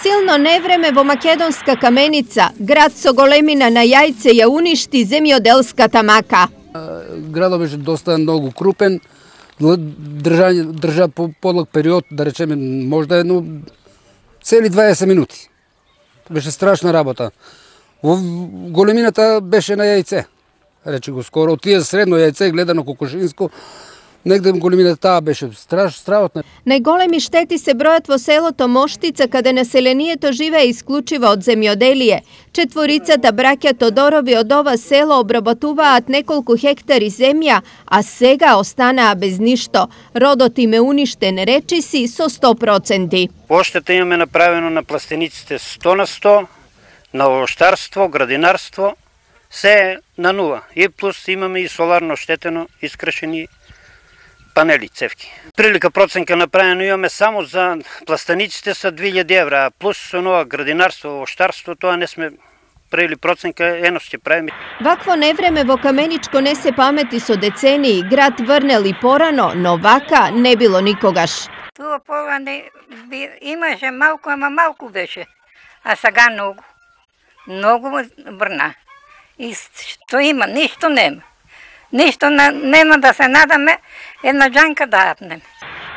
Силно невреме во македонска Каменица, град со големина на јајце, ја уништи земјоделската мака. Градот беше доста многу крупен, држа по подлог период, да речеме, можда цели 20 минути. Беше страшна работа. Големината беше на јајце. Рече го скоро, тие средно јајце гледано кокошинско, негде големината таа беше стравотна. Најголеми штети се бројат во селото Моштица, каде населението живее исклучиво од земјоделие. Четворицата браќа Тодорови од ова село обработуваат неколку хектари земја, а сега останаа без ништо. Родот им е уништен, речиси, со 100%. Поштата имаме направено на пластениците 100%, на овоштарство, градинарство, се на нула. И плюс имаме и соларно штетено, искрашени панели, цевки. Прилика проценка направено имаме само за пластениците са 2000 евра, а плюс со нова градинарство, овоштарство, тоа не сме правили проценка, ено ќе правиме. Вакво невреме во Каменичко не се памети со децении, град врнел и порано, но вака не било никогаш. Туа пола имаше малку, ама малку беше, а сега многу. Многу врна. И што има? Ништо нема. Ништо нема да се надаме една џанка да апнем.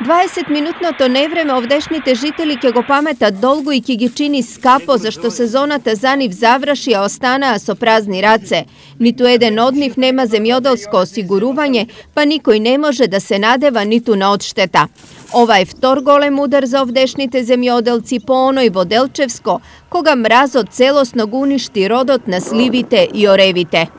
20-минутното невреме овдешните жители ќе го паметат долго и ќе ги чини скапо, зашто сезоната за нив заврши, а останаа со празни раце. Ниту еден од нив нема земјоделско осигурување, па никој не може да се надева ниту на одштета. Ова е втор голем удар за овдешните земјоделци по оној во Делчевско, кога мразот целосно го уништи родот на сливите и оревите.